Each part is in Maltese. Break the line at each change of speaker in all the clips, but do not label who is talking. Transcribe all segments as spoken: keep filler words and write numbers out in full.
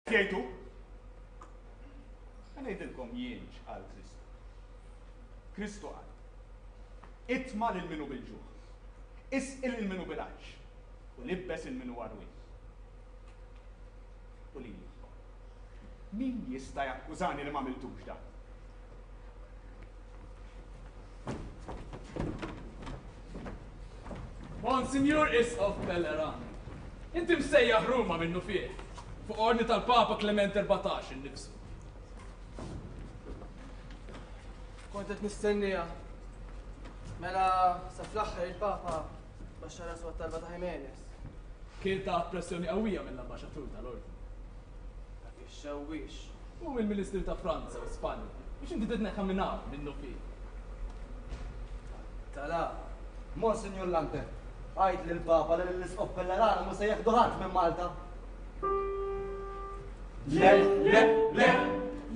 Jgħidu? Ħa ngħidilkom jien x'qal Kristu. Kristu qal, itma' lil min hu bil-ġuħ, isqi lil min hu bil-għatx, u libbes 'il min hu għarwien. U lili, min jista' jakkużani li m'għamiltux dan?
Monsinjur Isqof Pelleran, inti msejjaħ Ruma minnufih, fuq ordni tal-Papa Klement Erbatax innifsu.
Kont qed nistenniha. Mela sa fl-aħħar il-Papa baxxa rasu għat-talba ta' Jimenez.
Kien taħt pressjoni qawwija mill-ambaxxatur tal-Ordni.
Dak ix-xewwiex.
U mill-Ministri ta' Franza u Spanja biex inti titneħħa minn hawn minnufih.
Tala.
Monsinjur Lante, għid lill-Papa li lill-Isqof Pellerano mhu se jieħdu ħadd minn Malta.
Le, le, le,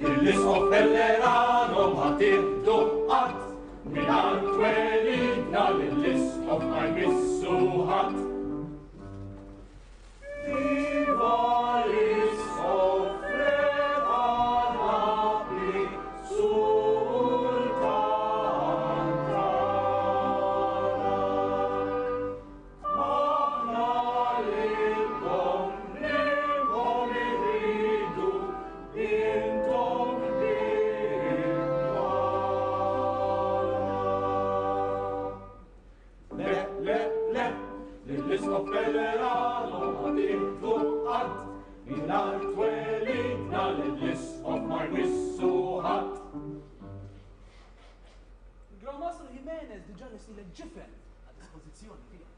lill-Isqof Pellerano ma tieħdu qatt. Mingħand twelidna lill-Isqof ma jmissu ħadd. Viva l-Isqof Re ta' Napli, Sultan tagħna. Aħna lilkom, lilkom irridu, intom ħbieb tagħna. Le, le, le, lill-Isqof Pellerano ma tieħdu qatt, mingħajr twelidna lill-Isqof ma jmissu ħadd.
Il-Gran Mastru Jimenez diġà lestielek ġifen għad-dispożizzjoni tiegħek.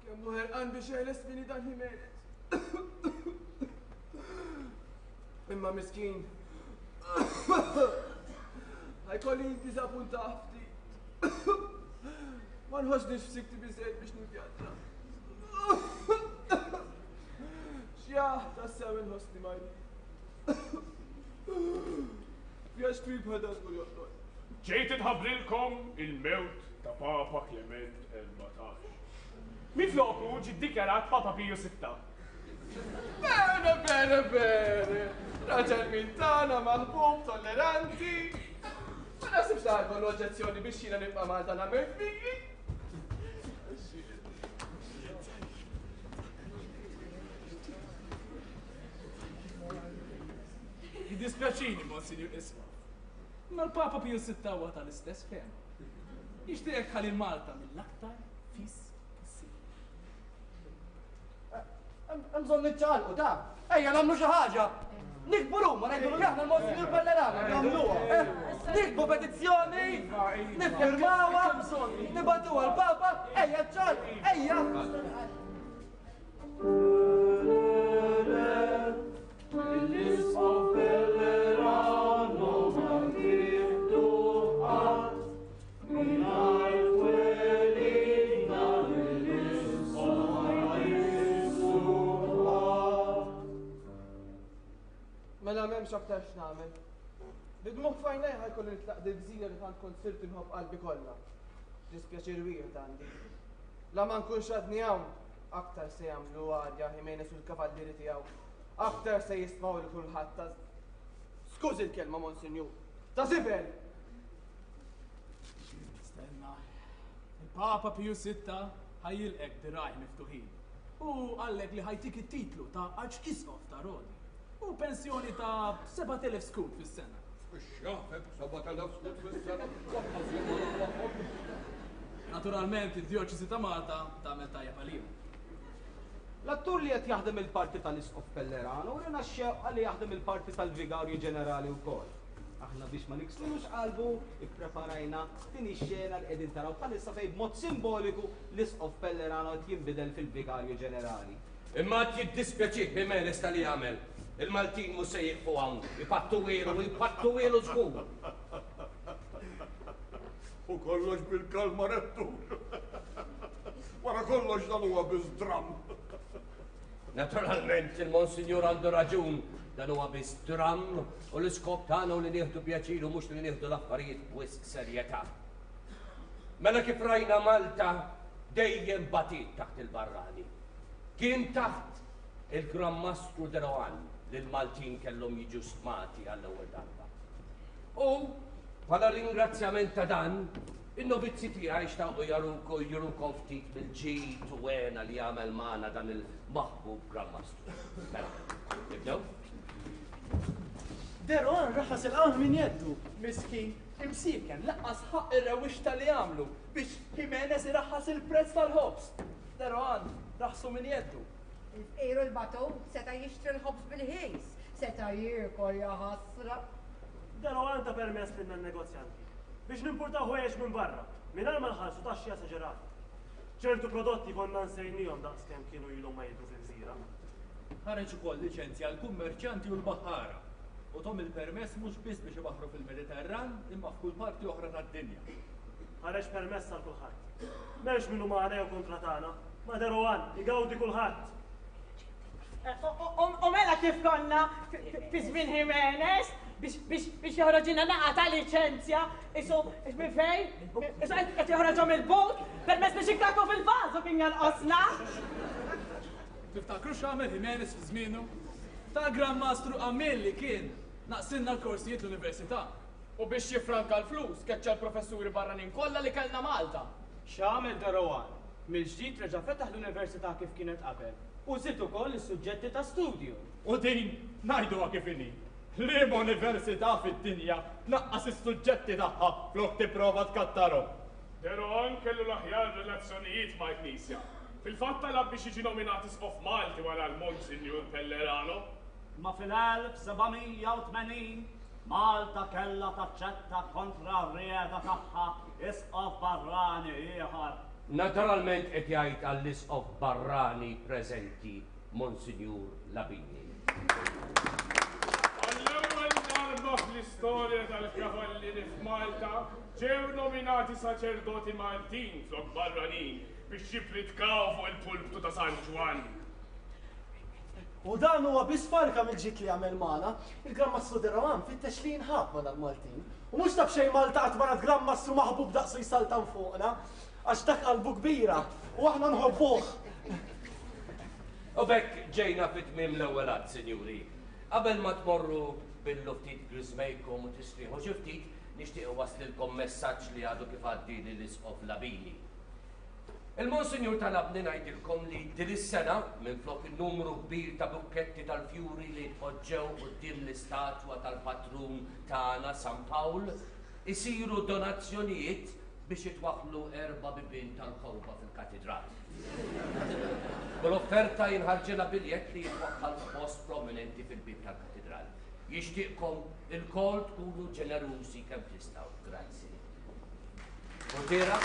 Kemm hu ħerqan biex jeħles minni dan Jimenez. Imma miskin. Ħajkolli niddiżappuntah ftit. Ma nħossnix f'sikti biżejjed biex nivvjaġġa. Xjaħ tassew inħossni marid. Vjaġġ twil bħal dan żgur joqtol.
Ġejt inħabbrilkom il-mewt ta' Papa Klement Erbatax. Minfloku ġie ddikjarat Papa Piju Sitta.
Bene, bene, bene. Raġel minn tagħna, maħbub, tolleranti. Ma naħsibx li ħajkollu oġġezzjoni biex jiena nibqa' Malta nagħmel figli.
Jiddispjaċini, Monsinjur Isqof. Imma l-Papa Piju Sitta huwa tal-istess fehma. Jixtieqek tħalli Malta mill-aktar fis possibbli.
Hemm bżonn niċċaqalqu ta'. Ejja nagħmlu xi ħaġa. Nikbu Ruma, ngħidu li aħna l-Monsinjur Pellerano, nagħmluha. Eh? Nikbu petizzjoni, niffirmawha, nibagħtuha l-Papa, ejja ċċaqalqu, ejja.
L-Isqof Pellerano ma tieħdu qatt, mingħajr twelidna lill-Isqof ma jmissu ħadd.
Mela m'hemmx aktar x'nagħmel. Bid-dmugħ f'għajnejja ħajkolli nitlaq dil-gżira li tant kont sirt inħobb qalbi kollha. Dispjaċir wieħed għandi. La ma nkunx għadni hawn, aktar se jagħmlu arja Jimenez u l-kavallieri tiegħu. Aktar se jistmaw li kulħadd ta' Skużi l-kelma, Monsinjur. Ta' żibel!
Stenna. Il-Papa Piju Sitta ħajjilqek dirgħajh miftuħin. U qallek li ħajtik it-titlu ta' Arċisqof ta' Rodi. U pensjoni ta' sebat elef skud fis-sena.
Ix-xafek sebat elef skud fis-sena, lanqas jien ma naqlagħhom.
Naturalment, id-djoċesi ta' Malta tagħmel tajjeb għalihom.
L-attur li qed jaħdem il-parti tal-Isqof Pellerano urina x-xewqa li jaħdem il-parti tal-Vigarju Ġenerali wkoll. Aħna biex ma nikslulux qalbu, ippreparajna din ix-xena li qegħdin taraw bħalissa fejn b'mod simboliku l-Isqof Pellerano qed jinbidel fil-Vigarju Ġenerali.
Imma qed jiddispjaċih Jimenez tal-li għamel. Il-Maltin mhux se jieqfu hawn, ipattu wielu, ipattu wielu żgur.
U kollox bil-kalma rettur. Wara kollox dan huwa biss dramm.
Naturalment il-Monsinjur għandu raġun, dan huwa biss dramm u l-iskop tagħna hu li nieħdu pjaċir u mhux li nieħdu l-affarijiet b'wisq serjetà. Mela kif rajna Malta dejjem batit taħt il-barrani. Kien taħt il-Gran Mastru de Rohan li l-Maltin kellhom jiġu stmati għall-ewwel darba. U bħala ringrazzjament ta' dan, in-novizzi tiegħi xtaqu jarukom jurukom ftit mill-ġid u hena li għamel magħna dan il-maħbub Gran Mastru. Mela, nibdew?
De Rohan raħas il-qamħ minn jeddu.
Miskin, imsiken, lanqas ħaqq ir-rewwixta li għamlu biex Jimenez iraħħas il-prezz tal-ħobż. De Rohan raħsu minn jeddu.
Il-fqir u l-batut seta' jixtri l-ħobż bil-ħis, seta' jiekol ja ħasra.
De Rohan ta permess lilna n-negozjanti biex nimpurtaw ħwejjeġ minn barra, mingħajr ma nħallsu taxxi esaġerati. Ċertu prodotti konna nsejnihom daqskemm kienu ilhom ma jidhru fil-gżira.
Ħareġ ukoll liċenzja għall-kummerċjanti u l-baħħara u tahom il-permess mhux biss biex ibaħru fil-Mediterran imma f'kull parti oħra tad-dinja.
Ħareġ permess għal kulħadd. M'hemmx min hu magħna jew kontra tagħna, ma' De Rohan igawdi kulħadd.
U mela kif konna fi żmien Jimenez biex joħroġilna naqa ta' liċenzja, isu minn fejn? Isu qed joħroġhom il-but, permess biex ikkaku fil-vażu kien jonqosna.
Tiftakru x'għamel Jimenez fi żmienu? Ta' Gran Mastru għamil li kien naqsilna l-korsijiet l-università.
U biex jifranka l-flus, keċċa l-professuri barranin kollha li kellna Malta.
X'għamel De Rohan? Mill-ġdid reġa' fetaħ l-università kif kienet qabel u żied ukoll is-suġġetti ta' studju.
U din ngħiduha kif inhi. Liema università fid-dinja tnaqqas is-suġġetti tagħha flok tipprova tkattarhom.
De Rohan kellu l-aħjar relazzjonijiet mal-Knisja. Fil-fatt talab biex jiġi nominat isqof Malti wara l-Monsinjur Pellerano.
Ma fil-elf seba' mija u tmenin Malta kella taċċetta kontra r-rieda tagħha isqof barrani ieħor.
Naturalment qed jgħid għall-isqof barrani preżenti, Monsinjur Labini.
Għall-ewwel darba fl-istorja tal-Kavallieri f'Malta ġew nominati saċerdoti Maltin flok barranin biex jippritkaw fuq il-pulptu ta' San Ġwann.
U dan huwa biss farka mill-ġid li għamel magħna. Il-Gran Mastru De Rohan fittex li jinħab ma' l-Maltin. U mhux ta' b'xejn Malta qatt ma rat Gran Mastru maħbub daqsu jsaltan fuqna. Għax dak qalbu kbira u aħna nħobbuh.
U b'hekk ġejna fi tmiem l-ewwel att, sinjuri. Qabel ma tmorru billu ftit griżmejkom u tistrieħu xi ftit, nixtieq nwasslilkom messaġġ li għadu kif għaddieli l-Isqof Labini. Il-Monsinjur talabni ngħidilkom li din is-sena minflok il-numru kbir ta' bukketti tal-fjuri li tpoġġew quddiem l-istatwa tal-patrun tagħna San Pawl, isiru donazzjonijiet biex jitwaħlu erba' bibien tal-kewba fil-katedral. Kull offerta jinħarġilha biljett li jitwaħħal f'post prominenti fil-bib tal-katedral. Jixtieqkom ilkoll tkunu ġenerużi kemm tistgħu. Grazzi. Portiera?